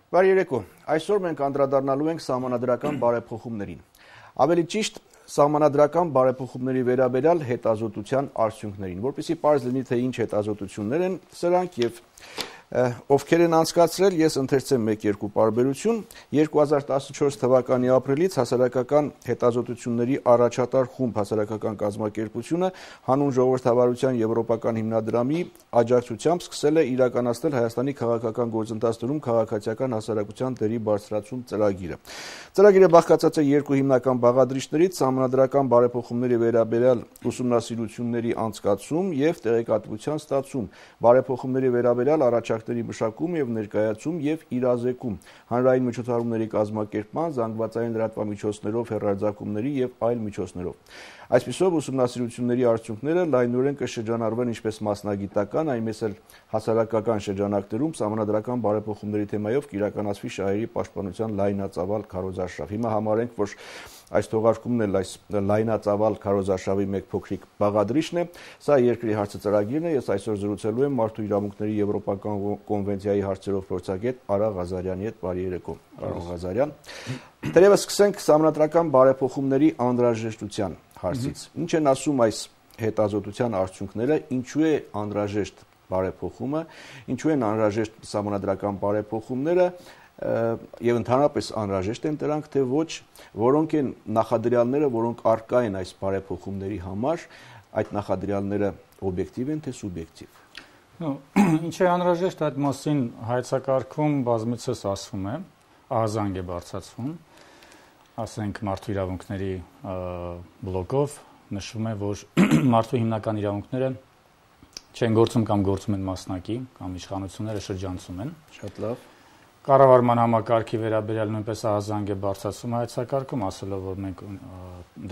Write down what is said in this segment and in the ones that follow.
Բարի երեկո, այսօր մենք անդրադառնալու ենք սահմանադրական բարեփոխումներին։ Ավելի ճիշտ, սահմանադրական բարեփոխումների վերաբերյալ հետազոտության արդյունքներին, որպեսզի պարզ լինի, թե ինչ հետազոտություններ են սրանք եւ ովքեր են անցկացրել, ես ընթերցեմ 1-2 պարբերություն 2014 թվականի ապրիլից հասարակական հետազոտությունների առաջատար խումբ հասարակական կազմակերպությունը հանուն ժողովրդավարության եվրոպական հիմնադրամի աջակցությամբ սկսել է իրականացնել Հայաստանի քաղաքական գործընթացներում քաղաքացիական հասարակության դերի բարձրացում ծրագիրը։ Ծրագիրը բաղկացած է երկու հիմնական բաղադրիչներից՝ սահմանադրական բարեփոխումների վերաբերյալ ուսումնասիրությունների անցկացում եւ տեղեկատվության ստացում, բարեփոխումների վերաբերյալ առաջարկների մշակում եւ ներկայացում եւ իրազեկում, հանրային միջոցառումների կազմակերպման, զանգվածային լրատվամիջոցներով, հեռարձակումների եւ այլ միջոցներով։ Այսպիսով ուսումնասիրությունների արդյունքները լայնորեն կշրջանառվեն ինչպես մասնագիտական, այնպես էլ հասարակական շրջանակներում սահմանադրական բարեփոխումների թեմայով կիրականացվի շահերի պաշտպանության լայնածավալ քարոզարշավ։ Հիմա համարենք, որ այս թողարկումն էլ այս լայնածավալ քարոզարշավի մեկ փոքրիկ բաղադրիչն է։ Սա երկրի հարցը ծրագիրն է։ Ես այսօր զրուցելու եմ Մարդու իրավունքների եվրոպական կոնվենցիայի հարցերով փորձագետ Արա Ղազարյանի հետ։ Բարի երեկո, պարոն Ղազարյան։ Դերևս սկսենք սահմանադրական բարեփոխումների անհրաժեշտության հարցից։ Ինչ են ասում այս հետազոտության արդյունքները, ինչու է անհրաժեշտ բարեփոխումը, ինչու են անհրաժեշտ սահմանադրական բարեփոխումները եւ ընդհանրապես անհրաժեշտ են դրանք, թե ոչ, որոնք են նախադրյալները, որոնք արկա են այս բարեփոխումների համար, այդ նախադրյալները օբյեկտիվ են, թե սուբյեկտիվ։ Ինչ է անհրաժեշտ, այդ մասին հայեցակարգում բազմիցս ասվում է, ահազանգ է բարձրացվում, ասենք մարդու իրավունքների բլոկով նշվում է, որ մարդու հիմնական իրավունքները չեն գործում կամ գործում են մասնակի, կամ իշխանությունները շրջանցում են։ Շատ լավ։ Կառավարման համակարգի վերաբերյալ նույնպես ահազանգ է բարձրացում հայեցակարգում, ասելով, որ մենք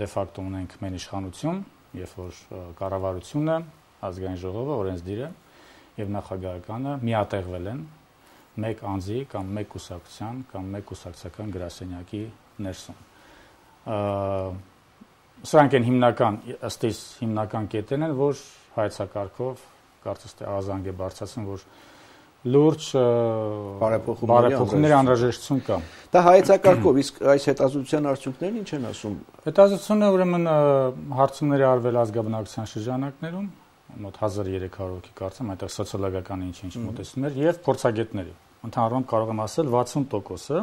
դե ֆակտո ունենք մեն իշխանություն, երբ որ կառավարությունը, ազգային ժողովը, օրենսդիրը եւ նախագահականը միատեղվել են մեկ անձի կամ մեկ կուսակցության կամ մեկ կուսակցական գրասենյակի ներսում։ Սրանք են հիմնական, ըստ իս հիմնական կետերն են, որ հայեցակարգով կարծես թե ահազանգ է բարձրացում, որ լուրջ բարեփոխումների անհրաժեշտություն կա։ Դա հայեցակարգով, իսկ այս հետազոտության արդյունքներն ինչ են ասում։ Հետազոտությունը ուրեմն հարցումների արվել ազգաբնակության շրջանակներում, մոտ 1300 հոգի կարծեմ, այդտեղ սոցիոլոգիական ինչ-ինչ մոտեցումներ եւ փորձագետների։ Ընդհանրապես կարող եմ ասել 60%-ը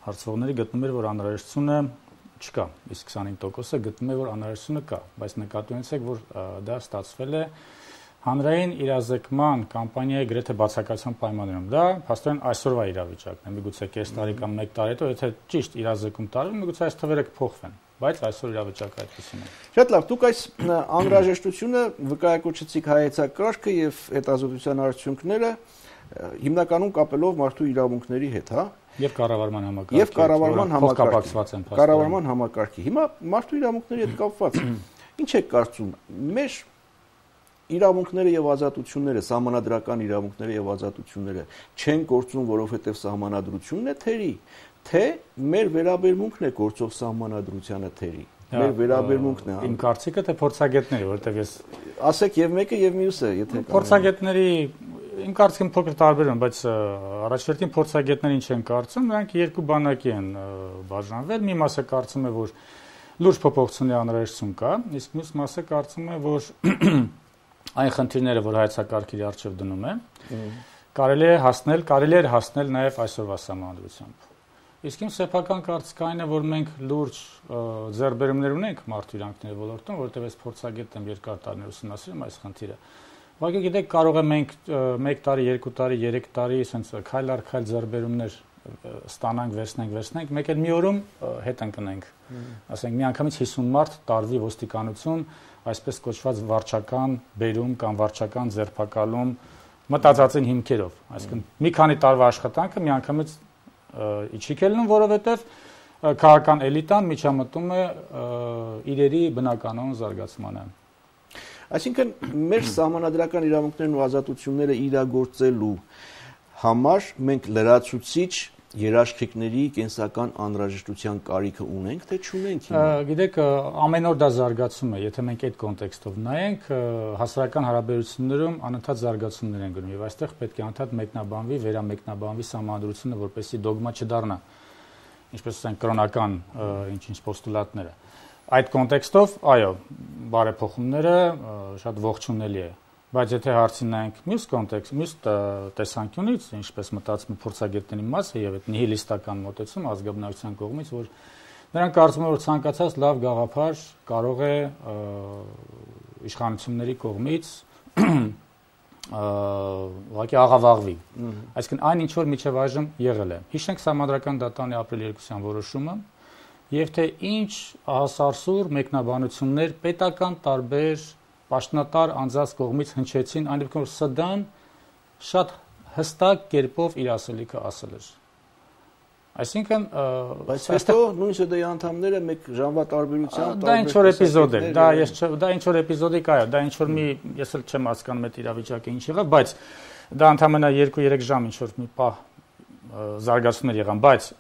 հարցվողների գտնում էր, որ անհրաժեշտությունը չկա, իսկ 25%-ը գտնում է, որ անհրաժեշտությունը կա, բայց նկատի ունեցեք, որ դա ստացվել է հանրային իրազեկման կամպանիայի գրեթե բացակայության պայմաններում։ Դա փաստորեն այսօրվա իրավիճակն է։ Միգուցե կես տարի կամ 1 տարի հետո, եթե ճիշտ իրազեկում տարվի, միգուցե այս թվերը կփոխվեն, բայց այսօր իրավիճակը այդպեսին է։ Շատ լավ, դուք այս անհրաժեշտությունը վկայակոչեցիք հայեցակարգը եւ հետազոտության արդյունքները հիմնականում կապելով մարդու իրավունքների հետ, հա։ Եվ կառավարման համակարգի։ Եվ կառավարման համակարգի։ են Կառավարման համակարգի։ Հիմա մարդու իրավունքների հետ կապված ինչ է կարծում, մեր իրավունքները եւ ազատությունները, սահմանադրական իրավունքները եւ ազատությունները չեն գործում, որովհետեւ սահմանադրությունն է թերի, թե մեր վերաբերմունքն է գործող սահմանադրությանը թերի։ Մեր վերաբերմունքն է։ Իմ կարծիքը թե փորձագետների, որովհետեւ ես ասեք եւ մեկը եւ մյուսը, եթե փորձագետների իմ կարծիքին փոքր տարբեր են, բայց առաջերտին փորձագետները ինչ են կարծում, նրանք երկու բանակի են բաժանվել։ Մի մասը կարծում է, որ լուրջ փոփոխությունների անհրաժեշտություն կա, իսկ մյուս մասը կարծում է, որ այն խնդիրները, որ հայեցակարգի առջև դնում է, կարելի է հասնել նաև այսօրվա սահմանադրությամբ։ Իսկ իմ սեփական կարծիքը այն է, որ մենք լուրջ ձեռքբերումներ ունենք մարդու իրավունքների ոլորտում, որովհետև ես փորձագետ եմ, երկար տարիներ ուսումնասիրում այս խնդիրը։ Ուղղակի գիտեք, կարող է մենք 1 տարի, 2 տարի, 3 տարի այսպես քայլ առ քայլ ձեռքբերումներ ստանանք, վերցնենք, մեկ էլ մի օրում հետ ընկնենք։ Ասենք միանգամից 50 մարդ տարվի ոստիկանություն, այսպես կոչված վարչական բերում կամ վարչական ձերբակալում մտածածին հիմքերով, այսինքն մի քանի տարվա աշխատանքը միանգամից իջիկ է լինում, որովհետև քաղաքական էլիտան միջամտում է իրերի բնականոն զարգացմանը։ Այսինքն մեր սահմանադրական իրավունքներն ու ազատությունները իրագործելու համար մենք լրացուցիչ երաշխիքների կենսական անհրաժեշտության կարիքը ունենք, թե չունենք հիմա։ Գիտեք, ամեն օր դա զարգացում է, եթե մենք այդ կոնտեքստով նայենք, հասարակական հարաբերություններում անընդհատ զարգացումներ են գնում եւ այստեղ պետք է անընդհատ մեկնաբանվի, վերամեկնաբանվի սահմանադրությունը, որպեսզի դոգմա չդառնա, ինչպես ասենք, կրոնական ինչ-ինչ պոստուլատները։ Այդ կոնտեքստով, այո, բարեփոխումները շատ ողջունելի է, բայց եթե հարցին նայենք մյուս կոնտեքստ, մյուս տեսանկյունից, ինչպես մտածում փորձագետների մասը եւ այդ նիհիլիստական մոտեցում ազգաբնակության կողմից, որ նրանք կարծում են, որ ցանկացած լավ գաղափար կարող է իշխանությունների կողմից ուղղակի աղավաղվի։ Այսինքն այն ինչ որ միջև այժմ եղել է։ Հիշենք Սահմանադրական դատարանի ապրիլի 2-յան որոշումը եւ թե ինչ ահասարսուր մեկնաբանություններ պետական տարբեր պաշտոնատար անձանց կողմից հնչեցին, այն դեպքում որ ՍԴ-ն շատ հստակ կերպով իր ասելիքը ասել էր։ Այսինքն, բայց հետո նույն ՍԴ-ի անդամները մեկ ժամվա տարբերությամբ դա ինչ որ էպիզոդ էր, դա ինչ որ էպիզոդիկ է, դա ինչ որ մի, ես էլ չեմ հասկանում այդ իրավիճակը ինչ եղավ, բայց դա ընդհանրապես 2-3 ժամ ինչ որ մի պահ զարգացումներ եղան, բայց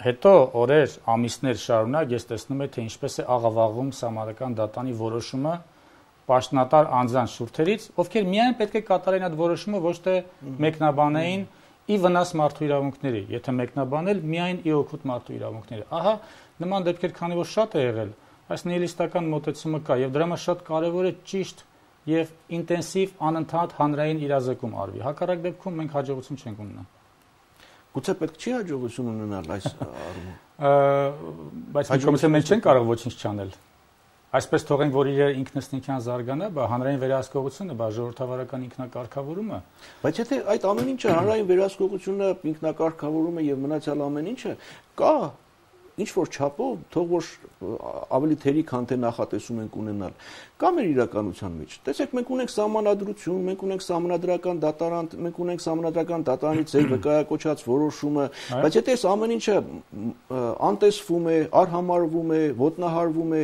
հետո օրեր, ամիսներ շարունակ ես տեսնում եմ, թե ինչպես է աղավաղում Սահմանադրական դատարանի որոշումը պաշտոնատար անձանց շուրթերից, ովքեր միայն պետք է կատարեն այդ որոշումը, ոչ թե մեկնաբանեին ի վնաս մարդու իրավունքների, եթե մեկնաբանել միայն ի օգուտ մարդու իրավունքների։ Ահա նման դեպքեր քանի որ շատ է եղել, այս նիհիլիստական մոտեցումը կա եւ դրա համար շատ կարեւոր է ճիշտ եւ ինտենսիվ անընդհատ հանրային իրազեկում արվի։ Հակառակ դեպքում մենք հաջողություն չենք ունենա։ Գուցե պետք չի հաջողություն ունենալ այս առումով։ Բայց մենք չենք կարող ոչինչ չանել։ Այսպես թողենք, որ իր ինքնըստինքյան զարգանա, բա հանրային վերահսկողությունը, բա ժողովրդավարական ինքնակարգավորումը։ Բայց եթե այդ ամեն ինչը հանրային վերահսկողությունը, ինքնակարգավորումը եւ մնացյալ ամեն ինչը կա ինչ որ չափով, թող որ ավելի թերի քան թե նախատեսում ենք ունենալ, կա մեր իրականության մեջ։ Տեսեք, մենք ունենք սահմանադրություն, մենք ունենք սահմանադրական դատարան, մենք ունենք սահմանադրական դատարանի ձեր վկայակոչած որոշումը, բայց եթե այս ամեն ինչը անտեսվում է, արհամարվում է, ոտնահարվում է,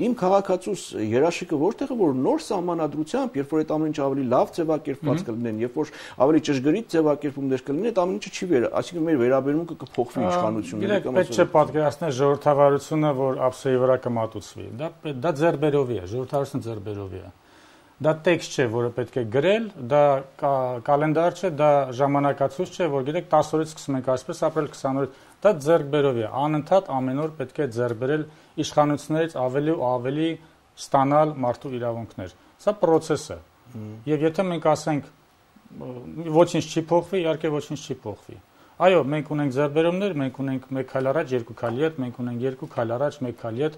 իմ քաղաքացուս երաշխիքը որտեղ է, որ նոր սահմանադրությամբ, երբ որ այդ ամեն ինչը ավելի լավ ձևակերպված կլինեն, երբ որ ավելի ճշգրիտ ձևակերպումներ կլինեն, այդ ամեն ինչը չի այսինքն մեր վերաբերմունքը կփոխվի իշխանությունների կամ պատկերացնել ժողովրդավարությունը, որ ափսեի վրա կմատուցվի։ Դա ձեռբերովի է, ժողովրդավարությունը ձեռբերովի է։ Դա տեքստ չէ, որը պետք է գրել, դա կալենդար չէ, դա ժամանակացույց չէ, որ գիտեք 10 օրից սկսում ենք այսպես ապրել 20 օրից։ Դա ձեռբերովի է։ Անընդհատ ամեն օր պետք է ձեռբերել իշխանություններից ավելի ու ավելի ստանալ մարդու իրավունքներ։ Սա process է։ Եվ եթե մենք ասենք ոչինչ չի փոխվի, իհարկե ոչինչ չի փոխվի։ Այո, մենք ունենք ձեռբերումներ, մենք ունենք 1 քայլ առաջ, 2 քայլ ետ, մենք ունենք 2 քայլ առաջ, 1 քայլ ետ։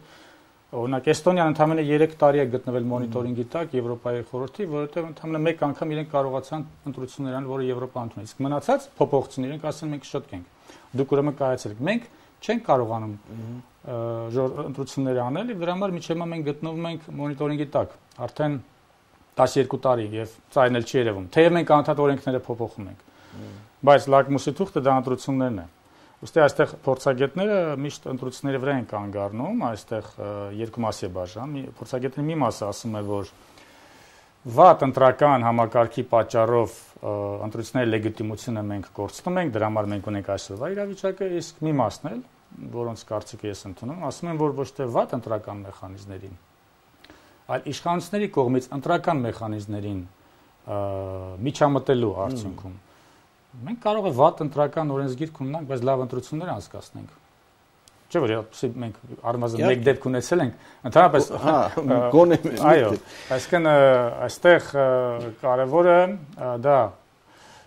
Օրինակ Էստոնիան ընդամենը 3 տարի է գտնվել մոնիտորինգի տակ Եվրոպայի խորհրդի, որովհետև ընդամենը մեկ անգամ իրենք կարողացան ընտրություններ անել, որը Եվրոպան ընդունել։ Իսկ մնացած փոփոխություն իրենք ասեն մենք շտկենք։ Դուք ուրեմն կայացրեք։ Մենք չենք կարողանում ընտրություններ անել, եւ դրա համար միջև հիմա մենք գտնվում ենք մոնիտորինգի տակ։ Արդեն 12 տարի եւ ծայրն էլ չի երևում։ Թեև մենք անընդհատ օրենքները փոփոխում ենք։ Բայց լակմուսի թուղթը դա ընտրություններն է։ Ոստի այստեղ փորձագետները միշտ ընտրությունների վրա են կանգ առնում, այստեղ երկու մասի է բաժան։ Փորձագետների մի մասը ասում է, որ վատ ընտրական համակարգի պատճառով ընտրությունների լեգիտիմությունը մենք կորցնում ենք, դրա համար մենք ունենք այսօրվա իրավիճակը, իսկ մի մասն էլ, որոնց կարծիքը ես ընդունում, ասում են, որ ոչ թե վատ ընտրական մեխանիզմներին, այլ իշխանությունների կողմից ընտրական մեխանիզմներին միջամտելու արդյունքում մենք կարող է վատ ընտրական օրենսգիր ունենանք, բայց լավ ընտրություններ անցկացնենք։ Չէ՞ որ մենք առնվազն մեկ դեպք ունեցել ենք, ընդհանրապես գոնե այո, այսինքն այստեղ կարևորը դա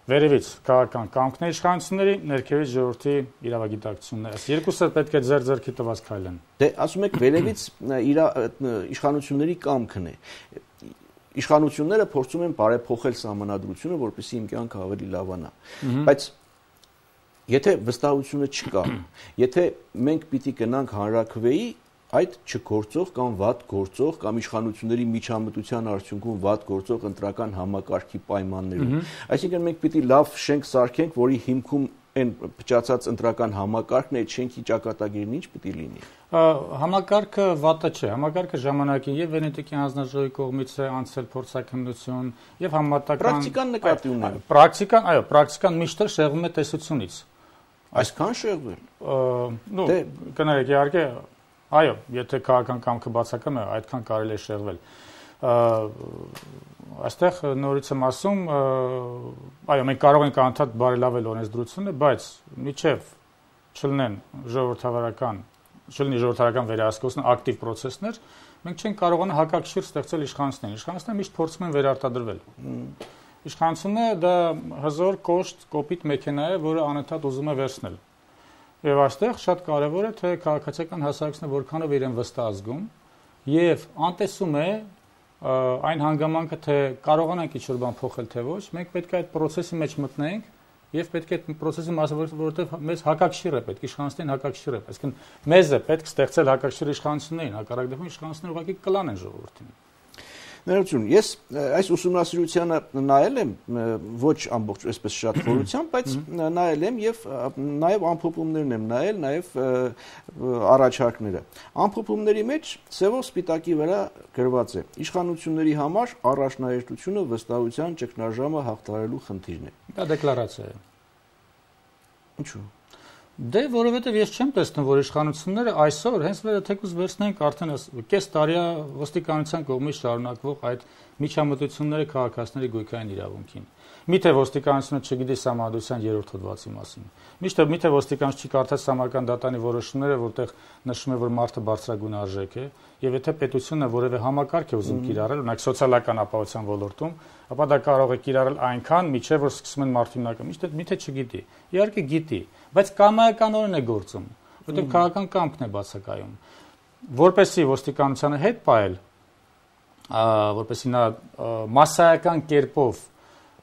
վերևից քաղաքական կամքների իշխանությունների, ներքևից ժողովրդի իրավագիտակցությունները։ Այս երկուսը պետք է ձեռքի տված քայլեն։ Դե ասում եք վերևից իշխանությունների կամքն է։ Իշխանությունները փորձում են բարեփոխել սահմանադրությունը, որպեսզի իմ կյանքը ավելի լավանա։ Բայց եթե վստահությունը չկա, եթե մենք պիտի գնանք հանրաքվեի այդ չգործող կամ վատ գործող կամ իշխանությունների միջամտության արդյունքում վատ գործող ընտրական համակարգի պայմաններում, այսինքն մենք պիտի լավ շենք սարքենք, որի հիմքում այն փչացած ընտրական համակարգն է, այդ շենքի ճակատագիրն ինչ պիտի լինի։ Համակարգը վատը չէ, համակարգը ժամանակին եւ Վենետիկյան հանձնաժողովի կողմից է անցել փորձաքննություն եւ համատական պրակտիկան նկատի ունեմ։ Պրակտիկան, այո, պրակտիկան միշտ շեղվում է տեսությունից։ Այսքան շեղվել։ Ну, կներեք, իհարկե, այո, եթե քաղաքական կամքը բացակայում է, այդքան կարելի է շեղվել։ Այստեղ նորից եմ ասում, այո, մենք կարող ենք անդադ բարելավել օրենսդրությունը, բայց միջև չլինեն ժողովրդավարական վերահսկողության ակտիվ պրոցեսներ, մենք չենք կարողանա հակակշիռ ստեղծել իշխանություններին։ Իշխանությունները միշտ փորձում են վերարտադրվել։ Իշխանությունը դա հզոր կոշտ կոպիտ մեքենա է, որը անընդհատ ուզում է վերցնել։ Եվ այստեղ շատ կարևոր է, թե քաղաքացիական հասարակությունը որքանով իրեն վստահ զգում եւ անտեսում է այն հանգամանքը, թե կարողանանք ինչ-որ բան փոխել թե ոչ, մենք պետք է այդ process-ի մեջ մտնենք եւ պետք է այդ process-ի մասը, որովհետեւ մեզ հակակշիռ է պետք, իշխանություններին հակակշիռ է, այսինքն մեզ է պետք ստեղծել հակակշիռ իշխանություններին, հակառակ դեպքում իշխանությունները ուղղակի կլանեն ժողովրդին։ Ներողություն, ես այս ուսումնասիրությանը նայել եմ ոչ ամբողջ այսպես շատ խորությամբ, բայց նայել եմ եւ նաեւ ամփոփումներն եմ նայել, նաեւ առաջարկները։ Ամփոփումների մեջ սևով սպիտակի վրա գրված է. իշխանությունների համար առաջնահերթությունը վստահության ճգնաժամը հաղթահարելու խնդիրն է։ Դա դեկլարացիա է։ Ինչու՞։ Դե որովհետև ես չեմ տեսնում, որ իշխանությունները այսօր հենց թեկուզ վերցնենք արդեն կես տարի ոստիկանության կողմից շարունակվող այդ միջամտությունները քաղաքացիների գույքային իրավունքին։ Միթե ոստիկանությունը չգիտի Սահմանադրության 3-րդ հոդվածի մասին։ Միթե ոստիկանությունը չի կարդաց Սահմանադրական դատանի որոշումները, որտեղ նշում է, որ մարդը բարձրագույն արժեք է, եւ եթե պետությունը որևէ համակարգ է ուզում կիրառել, օրինակ սոցիալական ապահովության ոլորտում, ապա դա կարող է կիրառել այնքան, մինչև որ սկսում են մարդու հիմնական, միթե չգիտի։ Իհարկե գիտի, բայց կամայականորեն է գործում, որտեղ քաղաքական կամքն է բացակայում։ Որպեսի ոստիկանությանը հետ պայել, որպեսի նա մասսայական կերպով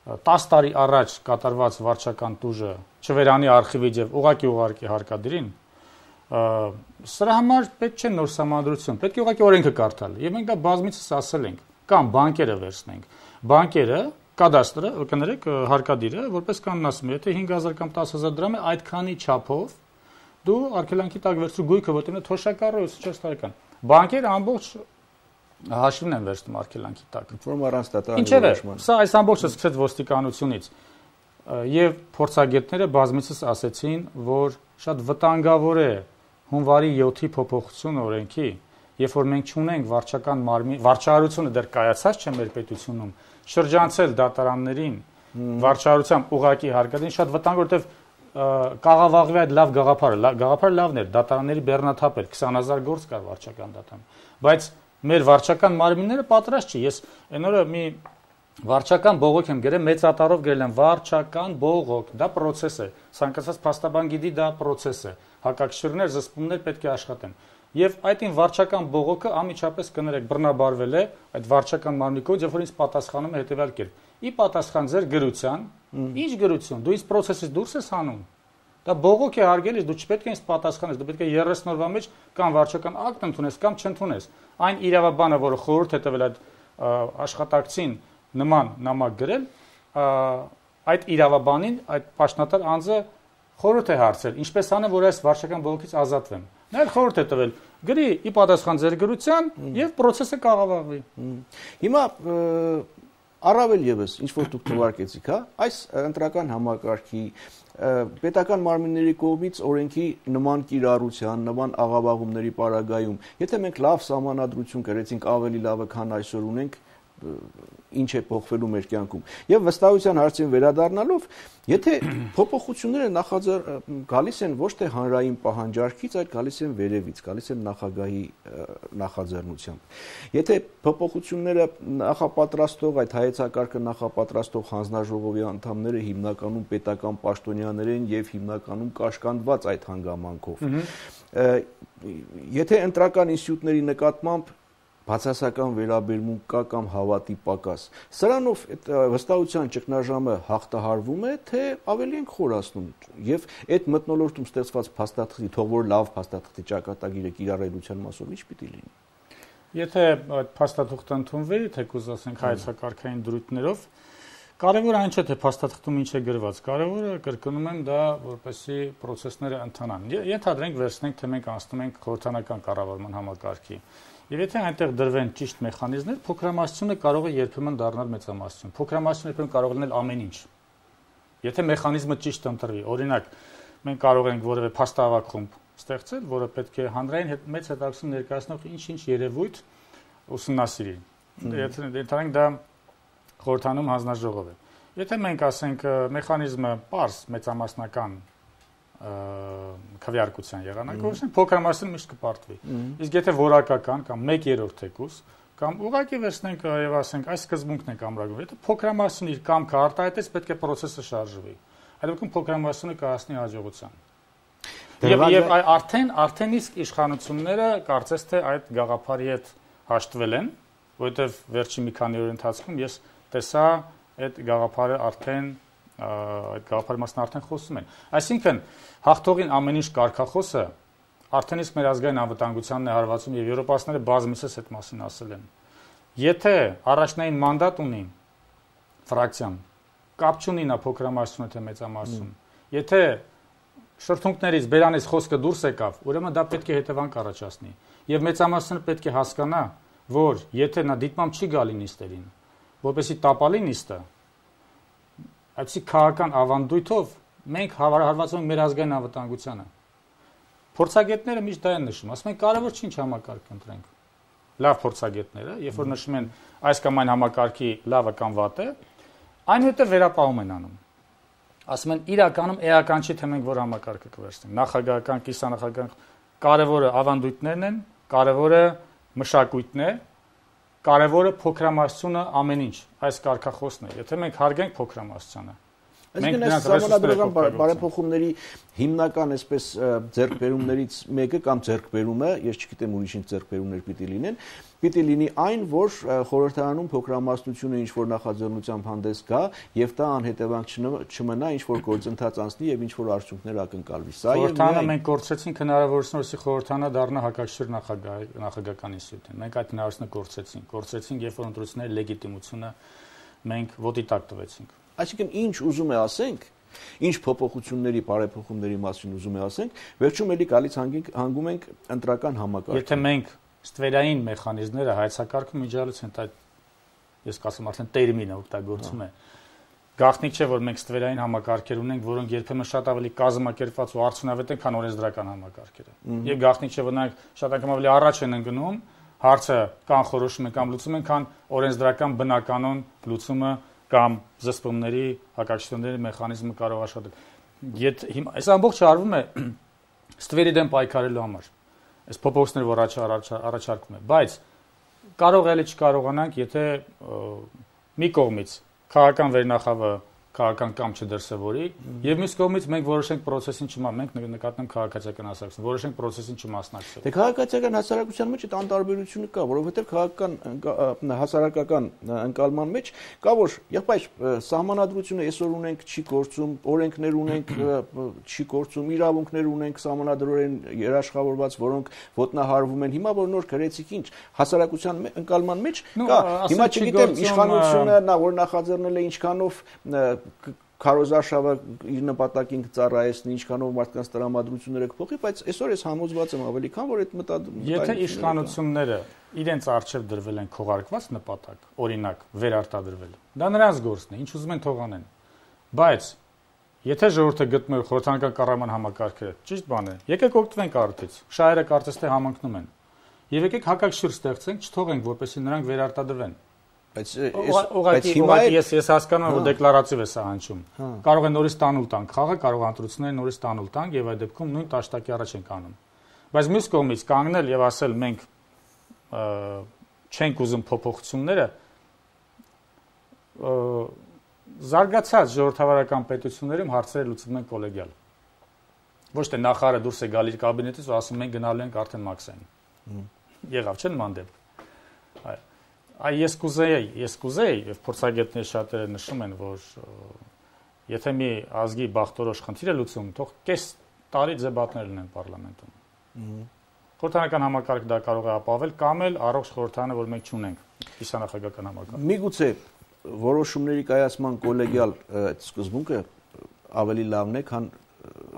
10 տարի առաջ կատարված վարչական տուժը չվերանի արխիվի եւ ուղղակի հարկադրին, սրա համար պետք չէ նոր Սահմանադրություն, պետք է ուղղակի օրենքը կարդալ։ Եվ մենք դա բազմիցս ասել ենք, կամ բանկերը վերցնենք։ Բանկերը, կադաստրը, կներեք, հարկադիրը, որպես կանոն ասում է, եթե 5000 կամ 10000 դրամ է, այդքանի չափով դու արգելանքի տակ վերցրու գույքը, որտեղ է թոշակառը 24 տարեկան։ Բանկերը ամբողջ հաշվին են վերցնում արգելանքի տակ։ Որում առանց դատարանի որոշման։ Սա այս ամբողջը սկսեց ոստիկանությունից եւ փորձագետները բազմիցս ասեցին, որ շատ վտանգավոր է հունվարի 7-ի փոփոխություն օրենքի, երբ որ մենք չունենք վարչական մարմին, վարչարությունը դեռ կայացած չէ մեր պետությունում, շրջանցել դատարաններին վարչարությամբ ուղղակի հարկադրին շատ վտանգավոր, որտեվ կաղավաղվի այդ լավ գաղափարը լավն էր, դատարանների բեռնաթափ էր, 20000 գործ կար վարչական դատարան, բայց մեր վարչական մարմինները պատրաստ չի։ Ես այն օրը մի վարչական բողոք եմ գրել, մեծատառով գրել եմ վարչական բողոք, դա process է։ Ցանկացած փաստաբան գիտի դա process է։ Հակակշիռներ, զսպումներ պետք է աշխատեն։ Եվ այդին վարչական բողոքը անմիջապես կներեք բռնաբարվել է այդ վարչական մարմնի կողմից, երբ որ ինձ պատասխանում է հետևյալ կերպ. ի պատասխան ձեր գրության, ինչ գրություն, դու ինձ process-ից դուրս ես հանում։ Դա բողոք է հարգելիս, դու չպետք է ինձ պատասխանես, դու պետք է 30 օրվա մեջ կամ վարչական ակտ ընդունես կամ չընդունես։ Այն իրավաբանը, որը խորհուրդ է տվել այդ աշխատակցին նման նամակ գրել, այդ իրավաբանին, այդ պաշտոնատար անձը խորհուրդ է հարցրել, ինչպես անեմ, որ այս վարչական բողոքից ազատվեմ։ Նա խորհուրդ է տվել, գրի ի պատասխան ձեր գրության եւ process-ը կաղավաղվի։ Հիմա առավել եւս ինչ որ դուք թվարկեցիք, հա, այս ընտրական համակարգի պետական մարմինների կողմից օրենքի նման կիրառության, նման աղավաղումների պարագայում, եթե մենք լավ սահմանադրություն կրեցինք, ավելի լավը, քան այսօր ունենք, ինչ է փոխվելու մեր կյանքում։ Եվ վստահության հարցին վերադառնալով, եթե փոփոխությունները գալիս են ոչ թե հանրային պահանջարկից, այլ գալիս են վերևից, գալիս են նախագահի նախաձեռնությամբ։ Եթե փոփոխությունները նախապատրաստող, այդ հայեցակարգը նախապատրաստող հանձնաժողովի անդամները հիմնականում պետական պաշտոնյաներ են եւ հիմնականում կաշկանդված այդ հանգամանքով։ Եթե ընտրական ինստիտուտների նկատմամբ բացասական վերաբերմունք կա կամ հավատի պակաս, սրանով վստահության ճգնաժամը հաղթահարվում է, թե ավելի են խորացնում եւ այդ մթնոլորտում ստեղծված փաստաթղթի, թող որ լավ փաստաթղթի ճակատագիրը կիրառելիության մասով ինչ պիտի լինի։ Եթե այդ փաստաթուղթը ընդունվի, թեկուզ ասենք հայեցակարգային դրույթներով, կարևորը այն չէ թե փաստաթղթում ինչ է գրված, կարևորը կրկնում եմ դա, որպեսզի process-ները ընթանան։ Ենթադրենք վերցնենք, թե մենք անցնում ենք խորհրդանական կառավարման համակարգի։ Եվ եթե այնտեղ դրվեն ճիշտ մեխանիզմներ, փոքրամասնությունը կարող է երբեմն դառնալ մեծամասնություն։ Փոքրամասնությունը երբեմն կարող է լինել ամեն ինչ։ Եթե մեխանիզմը ճիշտ ընտրվի, օրինակ, մենք կարող ենք որևէ փաստավակ խումբ ստեղծել, որը պետք է հանրային մեծ հետաքրքրություն ներկայացնող ինչ-ինչ երևույթ ուսումնասիրի։ Եթե դա խորհրդանում հանձնաժողով է։ Եթե մենք ասենք մեխանիզմը պարզ մեծամասնական քվեարկության եղանակով, փոքրամասն միշտ կպարտվի։ Իսկ եթե որակական կամ 1/3 թեկուս կամ ուղղակի վերցնենք եւ ասենք այս սկզբունքն է ամրագրում, եթե փոքրամասնն իր կամքը արտահայտեց, պետք է process-ը շարժվի։ Այդ դեպքում փոքրամասնը կհասնի հաջողության։ Եվ արդեն իսկ իշխանությունները կարծես թե այդ գաղափարի հետ հաշտվել են, որովհետեւ վերջին մի քանի օրի ընթացքում ես տեսա այդ գաղափարը արդեն այդ գաղափարի մասն արդեն խոսում են։ Այսինքն հաղթողին ամեն ինչ կարգախոսը արդեն իսկ մեր ազգային անվտանգությանն է հարվածում եւ եվրոպացիները բազմիցս այդ մասին ասել են։ Եթե առաջնային մանդատ ունի ֆրակցիան, կապ չունի նա փոքրամասնություն թե մեծամասնություն, եթե շրթունքներից բերանից խոսքը դուրս եկավ, ուրեմն դա պետք է հետևանք առաջացնի։ Եվ մեծամասնությունը պետք է հասկանա, որ եթե նա դիտմամբ չի գալի նիստերին, որպեսզի տապալի նիստը, այսի քաղաքական ավանդույթով մենք հարվածում ենք մեր ազգային անվտանգությանը։ Փորձագետները միշտ դա են նշում, ասում են կարևոր չի ինչ համակարգ ընտրենք։ Լավ փորձագետները, երբ որ նշում են այս կամ այն համակարգի լավը կամ վատը, այնուհետև վերապահում են անում։ Ասում են իրականում էական չի թե մենք որ համակարգը կվերցնենք։ Նախագահական, կիսանախագահական կարևորը ավանդույթներն են, կարևորը մշակույթն է, կարևորը փոքրամասնությունը ամեն ինչ, այս կարգախոսն է։ Եթե մենք հարգենք փոքրամասնությանը, Այսինքն այս սահմանադրական բարեփոխումների հիմնական այսպես ձեռքբերումներից մեկը կամ ձեռքբերումը, ես չգիտեմ ուրիշ ինչ ձեռքբերումներ պիտի լինի այն, որ խորհրդարանում փոքրամասնությունը ինչ որ նախաձեռնությամբ հանդես գա եւ դա անհետևանք չմնա, ինչ որ գործընթաց անցնի եւ ինչ որ արդյունքներ ակնկալվի։ Սա խորհրդարանը մենք կորցրեցինք հնարավորությունը, որ խորհրդարանը դառնա հակակշիռ նախագահական ինստիտուտ։ Մենք այդ հնարավորությունը կորցրեցինք, երբ որ ընտրությունների լեգիտիմությունը մենք ոտի տակ տվեցինք։ Այսինքն ինչ ուզում է ասենք, ինչ փոփոխությունների, բարեփոխումների մասին ուզում է ասենք, վերջում էլի գալիս հանգում ենք ընտրական համակարգ։ Եթե մենք ստվերային մեխանիզմները հայեցակարգում միջալից են, դա ես կասեմ արդեն տերմինը օգտագործում է։ Գաղտնիք չէ, որ մենք ստվերային համակարգեր ունենք, որոնք երբեմն շատ ավելի կազմակերպված ու արդյունավետ են, քան օրենսդրական համակարգերը։ Եվ գաղտնիք չէ, որ նրանք շատ անգամ ավելի առաջ են ընկնում, հարցը կանխորոշում են կամ լուծում են, քան օրենսդրական բնականon լուծումը կամ զսպումների, հակակշիռների մեխանիզմը կարող աշխատել։ Հիմա այս ամբողջը արվում է ստվերի դեմ պայքարելու համար։ Այս փոփոխությունները, որ առաջարկվում է, բայց կարող էլի չկարողանանք, եթե մի կողմից քաղաքական վերնախավը քաղաքական կամ չդրսևորի, եւ մյուս կողմից մենք որոշենք process-ին մենք նկատենք քաղաքացիական հասարակություն, որոշենք process-ին չմասնակցել։ Դե քաղաքացիական հասարակության մեջ այդ անտարբերությունը կա, որովհետեւ քաղաքական հասարակական ընկալման մեջ կա որ եղբայր սահմանադրությունը այսօր ունենք չի գործում, օրենքներ ունենք չի գործում, իրավունքներ ունենք սահմանադրորեն երաշխավորված, որոնք ոտնահարվում են։ Հիմա որ նոր գրեցիք ինչ հասարակության ընկալման մեջ կա։ Հիմա չգիտեմ իշխանությունը նա որ նախաձեռնել է ինչքանով քարոզարշավը իր նպատակին կծառայեցնի, ինչքանով մարդկանց տրամադրությունները կփոխի, բայց այսօր ես համոզված եմ ավելի քան որ այդ մտադիրությունը։ Եթե իշխանությունները իրենց արժև դրվել են քողարկված նպատակ, օրինակ վերարտադրվել, դա նրանց գործն է, ինչ ուզում են թող անեն։ Բայց եթե ժողովուրդը գտնում է խորհրդարանական կառավարման համակարգը, ճիշտ բան է, եկեք օգտվենք արդից։ Շահերը կարծես թե համընկնում են։ Եվ եկեք հակակշիռ ստեղծենք, չթողենք, որպեսզի նրանք վերարտադրվեն։ Բայց հիմա ես հասկանում եմ, որ դեկլարատիվ է սա հնչում։ Կարող է նորից տանուլ տանք խաղը, կարող է ընտրությունները նորից տանուլ տանք եւ այդ դեպքում նույն տաշտակի առաջ ենք անում։ Բայց մյուս կողմից կանգնել եւ ասել մենք չենք ուզում փոփոխությունները, զարգացած ժողովրդավարական պետություններում հարցերը լուծվում են կոլեգիալ։ Ոչ թե նախարարը դուրս է գալիս կաբինետից ու ասում մենք գնալու ենք արդեն մաքսային։ Եղավ չէ՞ նման դեպք։ Ես կուզեի, եւ փորձագետները շատերը նշում են, որ եթե մի ազգի բախտորոշ խնդիր է լուծում, թող կես տարի դեբատներ լինեն պարլամենտում։ Խորհրդարանական համակարգ դա կարող է ապավել կամ էլ առողջ խորհրդարանը, որ մենք չունենք, կիսանախագահական համակարգ։ Միգուցե որոշումների կայացման կոլեգիալ այդ սկզբունքը ավելի լավն է, քան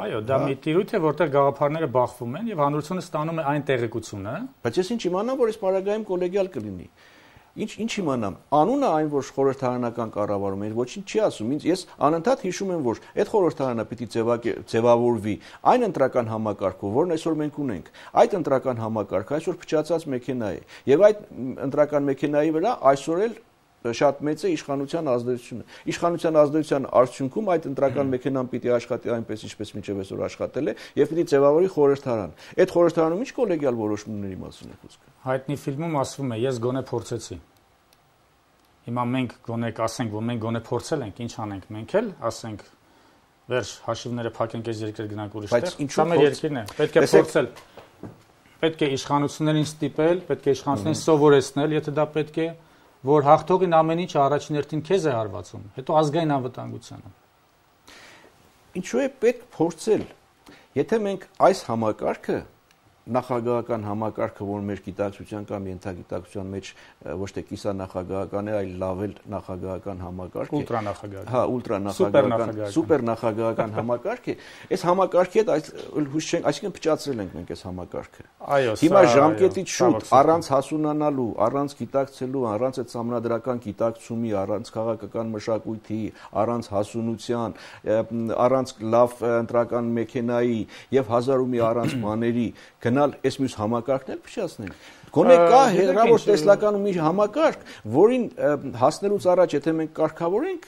Այո, դա մի տիրույթ է, որտեղ գաղափարները բախվում են եւ հանրությունը ստանում է այն տեղեկությունը։ Բայց ես ինչ իմանամ, որ այս պարագայում կոլեգիալ կլինի։ Ինչ իմանամ, անունը այն, որ խորհրդարանական կառավարում է, ոչինչ չի ասում։ Ես անընդհատ հիշում եմ, որ այդ խորհրդարանը պիտի ձևավորվի այն ընտրական համակարգով, որն այսօր մենք ունենք։ Այդ ընտրական համակարգը այսօր փչացած մեքենա է, եւ այդ ընտրական մեքենայի վրա այսօր էլ շատ մեծ է իշխանության ազդեցությունը։ Իշխանության ազդեցության արդյունքում այդ ընտրական մեքենան պիտի աշխատի այնպես, ինչպես մինչև այսօր աշխատել է, եւ պիտի ձևավորի խորհրդարան։ Այդ խորհրդարանում ինչ կոլեգիալ որոշումների մասին է խոսքը։ Հայտնի ֆիլմում ասվում է, ես գոնե փորձեցի։ Հիմա մենք գոնե ասենք, որ մենք գոնե փորձել ենք, ինչ անենք, մենք էլ ասենք, վերջ հաշիվները փակենք, այս երկրը գնանք ուրիշ տեղ։ Դա մեր երկիրն է, պետք է փորձել։ Պետք է իշխանություններին ստիպել, պետք է իշխանություններին սովորեցնել, եթե դա պետք է, որ հաղթողին ամեն ինչ առաջին հերթին քեզ է հարվածում, հետո ազգային անվտանգությանը։ Ինչու է պետք փորձել։ Եթե մենք այս համակարգը նախագահական համակարգը, որ մեր գիտակցության կամ ենթագիտակցության մեջ ոչ թե կիսանախագահական է, այլ լավել նախագահական համակարգ է։ Ուլտրանախագահական։ Հա, ուլտրանախագահական, սուպերնախագահական համակարգ է։ Այս համակարգի հետ հույս չենք, այսինքն փչացրել ենք մենք այս համակարգը։ Այո, հիմա ժամկետից շուտ, առանց հասունանալու, առանց գիտակցելու, առանց այդ համանդրական գիտակցումի, առանց քաղաքական մշակույթի, առանց հասունության, առանց լավ ընտրական մեքենայի եւ հազար ու մի առանց բաների գնալ այս մյուս համակարգն էլ փչացնել։ Գոնե կա հերավոր տեսլականում մի համակարգ, որին հասնելուց առաջ եթե մենք կարգավորենք,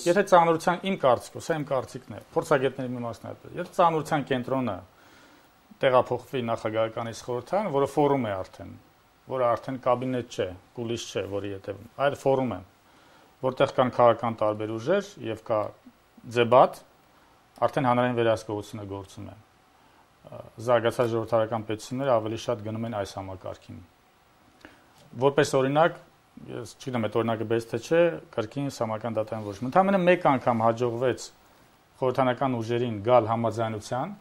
եթե ծանրության իմ կարծիքով, սա իմ կարծիքն է, փորձագետների մի մասն է այդպես։ Եթե ծանրության կենտրոնը տեղափոխվի նախագահական խորհրդարան, որը ֆորում է արդեն, որը արդեն կաբինետ չէ, կուլիս չէ, որի հետևում, այլ ֆորում է, որտեղ կան քաղաքական տարբեր ուժեր եւ կա ձեբատ, արդեն հանրային վերահսկողությունը գործում է։ Զարգացած ժողովրդարական պետությունները ավելի շատ գնում են այս համակարգին։ Որպես օրինակ, ես չգիտեմ, այդ օրինակը բես թե չէ, կրկին Սահմանադրական դատարան որոշում։ Ընդհանրապես մեկ անգամ հաջողվեց խորհրդարանական ուժերին գալ համաձայնության,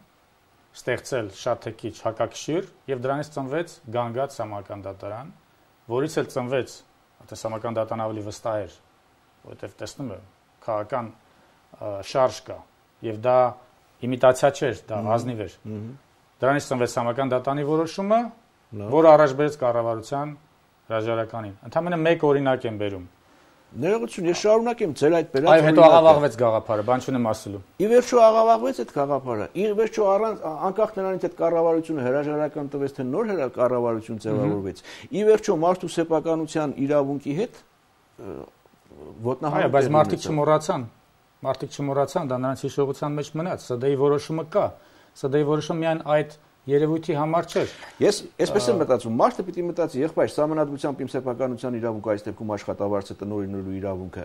ստեղծել շատ թե քիչ հակակշիռ եւ դրանից ծնվեց գանգատ Սահմանադրական դատարան, որից էլ ծնվեց, այդպես Սահմանադրական դատարան ավելի վստահ էր, որովհետեւ տեսնում եմ, քաղաքական շարժ կա եւ դա իմիտացիա չէր, դա ազնիվ էր։ Դրանից ծնվեց Սահմանադրական դատարանի որոշումը, որը առաջ բերեց կառավարության հրաժարականին։ Ընդհանրապես մեկ օրինակ եմ բերում։ Ներողություն, ես շարունակեմ ձեր այդ բերած օրինակը։ Այո, հետո աղավաղվեց գաղափարը, բան չունեմ ասելու։ Ի վերջո աղավաղվեց այդ գաղափարը։ Ի վերջո առանց անկախ նրանից այդ կառավարությունը հրաժարական տվեց, թե նոր կառավարություն ձևավորվեց։ Ի վերջո մարդու սեփականության իրավունքի հետ ոտնահարել։ Այո, բայց մարդիկ չմոռացան, դա նրանց հիշողության մեջ մնաց, ՍԴ-ի որոշումը կա։ ՍԴ-ի որոշումը միայն այդ երևույթի համար չէր։ Ես այսպես եմ մտածում, մարդը պիտի մտածի, եղբայր, սահմանադրությամբ իմ սեփականության իրավունքը, այս դեպքում աշխատավարձը տնօրինելու իրավունքը,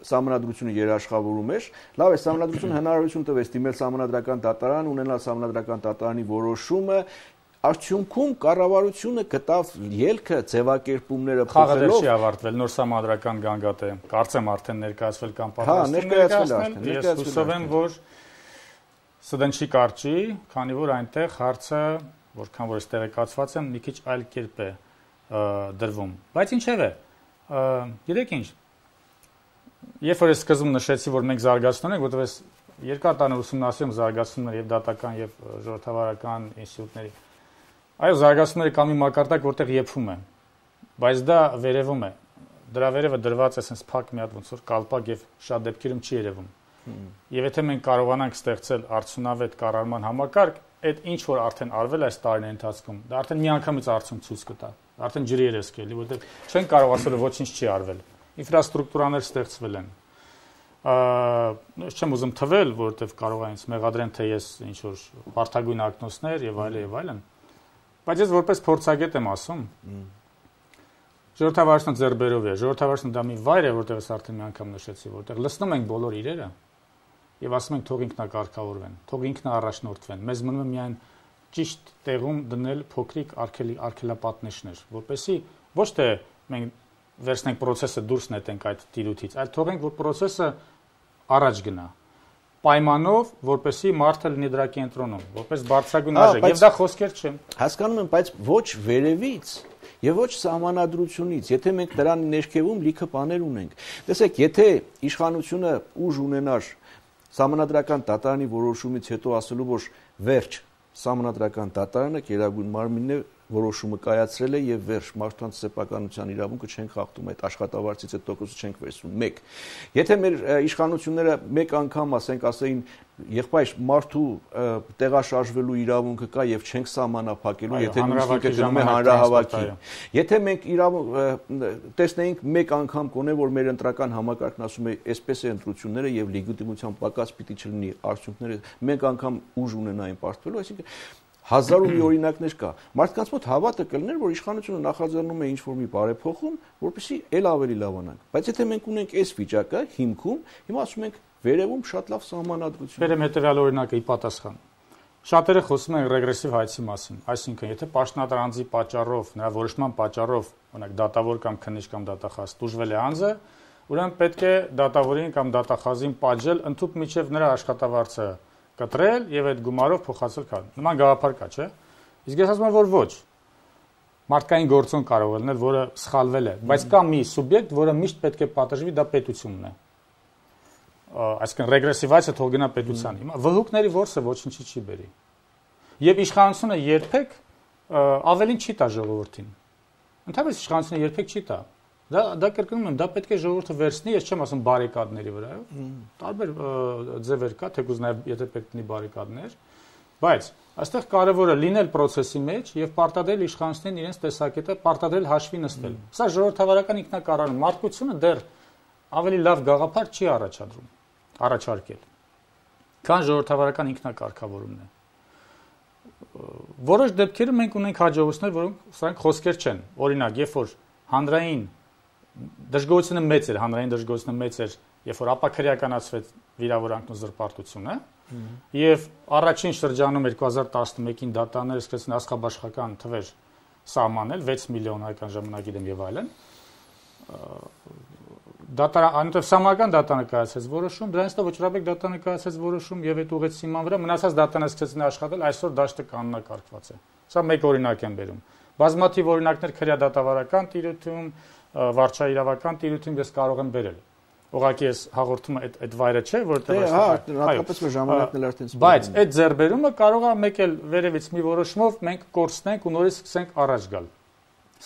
սահմանադրությունը երաշխավորում էր, լավ է, սահմանադրությունը հնարավորություն տվեց դիմել սահմանադրական դատարան, ունենալ սահմանադրական դատարանի որոշումը, արդյունքում կառավարությունը գտավ ելքը ձևակերպումները փոխելով։ Խաղը չի ավարտվել, նոր սահմանադրական գանգատ է, կարծեմ արդեն ներկայացվել կամ պատրաստվում ներկայացնել։ Ես հուսով եմ, որ ՍԴ-ն չի կարճի, քանի որ այնտեղ հարցը, որքան որ տեղեկացված եմ, մի քիչ այլ կերպ է դրվում։ Բայց ինչևէ, գիտեք ինչ, երբ որ ես սկզբում նշեցի, որ մենք զարգացնում ենք, որովհետև ես երկար տարի ուսումնասիրում զարգացումներ եւ դատական եւ ժողովրդավարական ինստիտուտների։ Այո, զարգացումները կա մի մակարդակ, որտեղ եփվում է, բայց դա վերևում է։ Դրա վերևը դրված է sense փակ մի հատ ոնց որ կալպակ եւ շատ դեպքերում չի երևում։ Եվ եթե մենք կարողանանք ստեղծել արդյունավետ կառավարման համակարգ, այդ ինչ որ արդեն արվել այս տարիների ընթացքում, դա արդեն միանգամից արդյունք ցույց կտա։ Արդեն ջրի երես կելի, որովհետեւ չեն կարող ասել որ ոչինչ չի արվել։ Ինֆրաստրուկտուրաներ ստեղծվել են։ Չեմ ուզում թվել, որովհետեւ կարող է ինձ մեղադրեն, թե ես ինչ որ վարդագույն ակնոցներ եւ այլն։ Բայց ես որպես փորձագետ եմ ասում, ժողովրդավարությունը ձեռբերով է։ Ժողովրդավարությունը դա մի վայր է, որտեղ ես արդեն մի անգամ նշեցի, որտեղ լսնում ենք բոլոր իրերը եւ ասում ենք թող ինքնակարգավորվեն, թող ինքնաառաջնորդվեն։ Մեզ մնում է միայն ճիշտ տեղում դնել փոքրիկ արգելապատնեշներ, որպեսզի ոչ թե մենք վերցնենք process-ը դուրս նետենք այդ տիրույթից, այլ թողենք որ process-ը առաջ գնա։ Պայմանով, որպեսզի մարդը լինի դրա կենտրոնում, որպես բարձրագույն արժեք, եւ դա խոսքեր չեմ։ Հասկանում եմ, բայց ոչ վերևից եւ ոչ սահմանադրությունից, եթե մենք դրան ներքևում լիքը բաներ ունենք։ Տեսեք, եթե իշխանությունը ուժ ունենար սահմանադրական դատարանի որոշումից հետո ասելու, որ վերջ, սահմանադրական դատարանը գերագույն մարմինն է, որոշումը կայացրել է եւ վերջ մարդկանց սեփականության իրավունքը չենք խախտում, այդ աշխատավարձից այդ տոկոսը չենք վերցնում։ 1. Եթե մեր իշխանությունները մեկ անգամ ասեին եղբայր մարդու տեղաշարժվելու իրավունքը կա եւ չենք սահմանափակելու, եթե նույնիսկ գնում է հանրահավաքի։ Եթե մենք տեսնեինք մեկ անգամ կոնե որ մեր ընտրական համակարգն ասում է այսպես է ընտրությունները եւ լեգիտիմության պակաս պիտի չլինի արդյունքները, մեկ անգամ ուժ ունենային պարտվելու, այսինքն հազար ու մի օրինակներ կա։ Մարդկանց մոտ հավատը կլներ, որ իշխանությունը նախաձեռնում է ինչ-որ մի բարեփոխում, որպեսզի ել ավելի լավանանք։ Բայց եթե մենք ունենք այս վիճակը հիմքում, հիմա ասում ենք վերևում շատ լավ սահմանադրություն։ Բերեմ հետևյալ օրինակը ի պատասխան։ Շատերը խոսում են ռեգրեսիվ հայցի մասին, այսինքն եթե պաշտոնատար անձի պատճառով, նրա որոշման պատճառով, օրինակ դատավոր կամ քննիչ կամ դատախազ տուժվել է անձը, ուրեմն պետք է դատավորին կամ դատախազին պատժել ընդհանուր միջև նրա աշխատավարձը կտրել եւ այդ գումարով փոխացել կան։ Նման գաղափար կա, չէ՞։ Իսկ ես ասում եմ, որ ոչ։ Մարդկային գործոն կարող է լինել, որը սխալվել է, բայց կա մի սուբյեկտ, որը միշտ պետք է պատժվի, դա պետությունն է։ Այսինքն ռեգրեսիվացիա թող գնա պետության։ Հիմա վհուկների որսը ոչինչի չի բերի։ Եվ իշխանությունը երբեք ավելին չի տա ժողովրդին։ Ընդհանրապես իշխանությունը երբեք չի տա։ Դա կրկնում եմ, դա պետք է ժողովուրդը վերցնի, ես չեմ ասում բարիկադների վրայով։ Տարբեր ձևեր կա, թեկուզ նաև եթե պետք լինի բարիկադներ, բայց այստեղ կարևորը լինել process-ի մեջ եւ պարտադրել իշխանություններին իրենց տեսակետը, պարտադրել հաշվի նստել։ Սա ժողովրդավարական ինքնակառավարում, մարդկությունը դեռ ավելի լավ գաղափար չի առաջարկել, քան ժողովրդավարական ինքնակարգավորումն է։ Որոշ դեպքերում մենք ունենք հաջողություններ, որոնք սրանք խոսքեր չեն։ Օրինակ, երբ որ հանրային դժգոհությունը մեծ էր, հանրային դժգոհությունը մեծ էր, երբ որ ապաքրեականացվեց վիրավորանքն ու զրպարտությունը, եւ առաջին շրջանում 2011-ին դատաները սկսեցին աստղաբաշխական թվեր սահմանել 6 միլիոն հայկական ժամանակ իդեմ եւ այլն։ Անտեղ սահմանական դատանը կայացրեց որոշում, դրանից հետո վճռաբեկ դատանը կայացրեց որոշում եւ այդ ուղղեց հիման վրա մնացած դատաները սկսեցին աշխատել, այսօր դաշտը կանոնակարգված է։ Սա մեկ օրինակ եմ բերում։ Բազմաթիվ օրինակներ քրեադատավարական տիրույթում, վարչաիրավական տիրույթում ես կարող եմ բերել։ Ուղղակի ես հաղորդումը այդ վայրը չէ, որտեղ հատկապես մեր ժամանակն էլ արդեն սպասում։ Բայց այդ ձեռբերումը կարող է մեկ էլ վերևից մի որոշումով մենք կորցնենք ու նորից սկսենք առաջ գալ։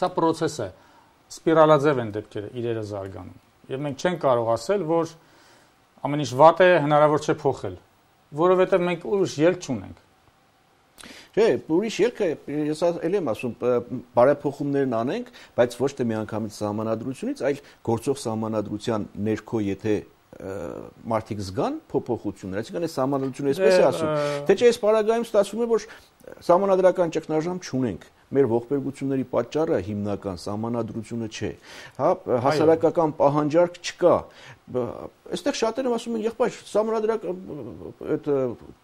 Սա process է։ Սպիրալաձև են դեպքերը իրերը զարգանում։ Եվ մենք չենք կարող ասել, որ ամեն ինչ վատ է, հնարավոր չէ փոխել, որովհետև մենք ուրիշ ելք չունենք։ Չէ, ուրիշ ելքը ես ելի եմ ասում, բարեփոխումներն անենք, բայց ոչ թե միանգամից սահմանադրությունից, այլ գործող սահմանադրության ներքո, եթե մարդիկ զգան փոփոխություններ, այսինքն այս սահմանադրությունը այսպես է ասում, թե չէ այս պարագայում ստացվում է, որ սահմանադրական ճգնաժամ չունենք։ Մեր ողբերգությունների պատճառը հիմնական սահմանադրությունը չէ։ Հա, հասարակական պահանջարկ չկա։ Այստեղ շատերը ասում են, եղբայր, սահմանադրական այդ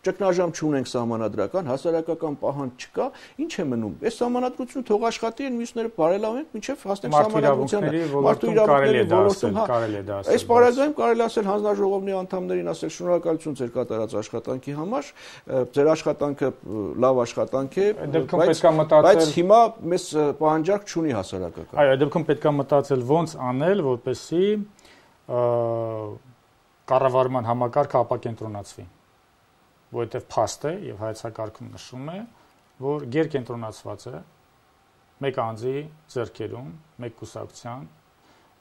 ճգնաժամ չունենք սահմանադրական, հասարակական պահանջ չկա, ինչ է մնում։ Այս սահմանադրությունը թող աշխատի, այն մյուսները բարելավենք, մինչև հասնենք սահմանադրությանը։ Մարդու իրավունքների ոլորտում կարելի է դա ասել։ Այս պարագայում կարելի ասել հանձնաժողովի անդամներին ասել շնորհակալություն ձեր կատարած աշխատանքի համար, ձեր աշխատանքը լավ աշխատանք է, բայց հիմա մեզ պահանջարկ չունի հասարակական։ Այո, այդ դեպքում պետք է մտածել ոնց անել, որպեսզի կառավարման համակարգը ապակենտրոնացվի, որովհետև փաստ է եւ հայեցակարգում նշում է, որ գերկենտրոնացված է մեկ անձի ձեռքերում, մեկ կուսակցության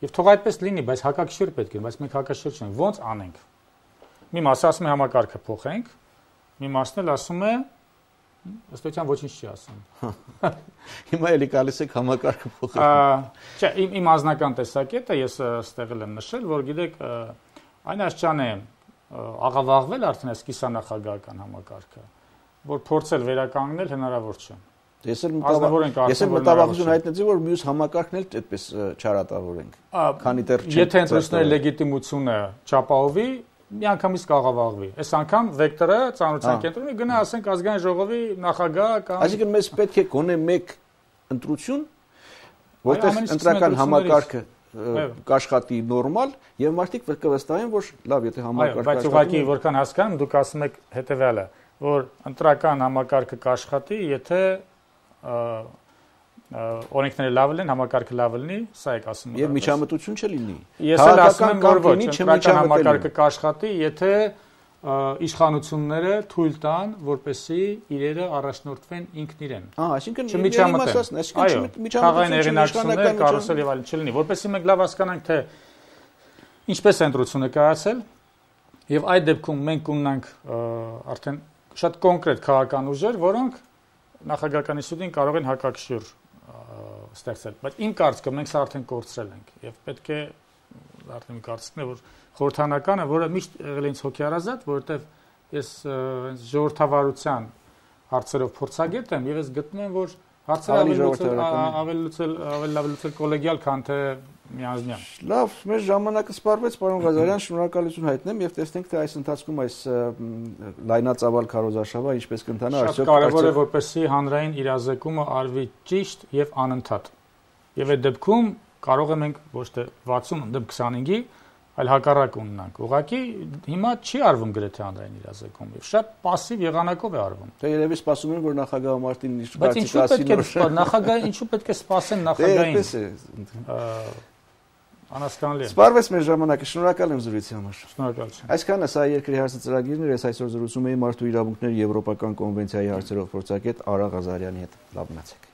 եւ թող այդպես լինի, բայց հակակշիռ պետք է, բայց մենք հակաշիռ չենք, ոնց անենք։ Մի մասը ասում է համակարգը փոխենք, մի մասն էլ ասում է ըստեյության ոչինչ չի ասում։ Հիմա էլի գալիս եք համակարգը փոխել։ Չէ, իմ անձնական տեսակետը ես ստեղ եմ նշել, որ գիտեք, այն աշճան է աղավաղվել արդեն այս կիսանախագահական համակարգը, որ փորձել վերականգնել հնարավոր չէ։ Ես էլ մտավախություն հայտնեցի, որ մյուս համակարգն էլ այդպես չարատավորենք։ Քանի դեռ եթե ընտրությունների լեգիտիմությունը չապահովի, միանգամից կաղավաղվի։ Այս անգամ վեկտորը ծանրության կենտրոնի գնա ասենք ազգային ժողովի նախագահ կամ Այսինքն մեզ պետք է գոնե մեկ ընտրություն, որտեղ ընտրական համակարգը կաշխատի նորմալ եւ մարդիկ կվստահեն, որ լավ, եթե համակարգը բայց ուղղակի որքան հասկանում, դուք ասում եք հետեւյալը, որ ընտրական համակարգը կաշխատի, եթե օրենքները լավ լինեն, համակարգը լավ լինի, սա եք ասում։ Եվ միջամտություն չլինի։ Ես էլ ասում եմ, որ ոչ, ընտրական համակարգը կաշխատի, եթե իշխանությունները թույլ տան, որպեսզի իրերը առաջնորդվեն ինքն իրեն։ Այսինքն չմիջամտեն։ Այո, խաղային հեղինակություններ, կարուսել եւ այլն չլինի, որպեսզի մենք լավ հասկանանք, թե ինչպես է ընտրությունը կայացել, եւ այդ դեպքում մենք ունենանք արդեն շատ կոնկրետ քաղաքական ուժեր, որոնք նախագահական ինստիտուտին կարող են հակակշիռ ստեղծել։ Բայց իմ կարծիքով մենք սա արդեն կորցրել ենք եւ պետք է արդեն կարծիքն է, որ խորհրդանականը, որը միշտ եղել է ինձ հոգեարազատ, որովհետև ես ժողովրդավարության հարցերով փորձագետ եմ եւ ես գտնում եմ, որ հարցերը ավելի լավ լուծել կոլեգիալ, քան թե միանձնյա։ Լավ, մեր ժամանակը սպառվեց, պարոն Ղազարյան, շնորհակալություն հայտնեմ եւ տեսնենք, թե այս ընթացքում այս լայնածավալ քարոզարշավը ինչպես կընթանա, արդյոք կարևոր է, որպեսզի հանրային իրազեկումը արվի ճիշտ եւ անընդհատ։ Եվ այդ դեպքում կարող ենք ոչ թե 60 դեպ 25-ի, այլ հակառակ ունենանք։ Ուղղակի հիմա չի արվում գրեթե հանրային իրազեկում եւ շատ пассив եղանակով է արվում։ Դե երևի սպասում են, որ նախագահ Մարտին Բայց ինչու պետք է նախագահը ինչու պետք է սպասեն նախագահին։ Անհասկանալի է։ Սպառվեց մեր ժամանակը, շնորհակալ եմ զրույցի համար։ Շնորհակալություն։ Այսքանը սա երկրի հարցը ծրագիրն էր, ես այսօր զրուցում էի Մարդու իրավունքների եվրոպական կոնվենցիայի հարցերով փորձագետ Արա Ղազարյանի հետ։ Լավ մնացեք։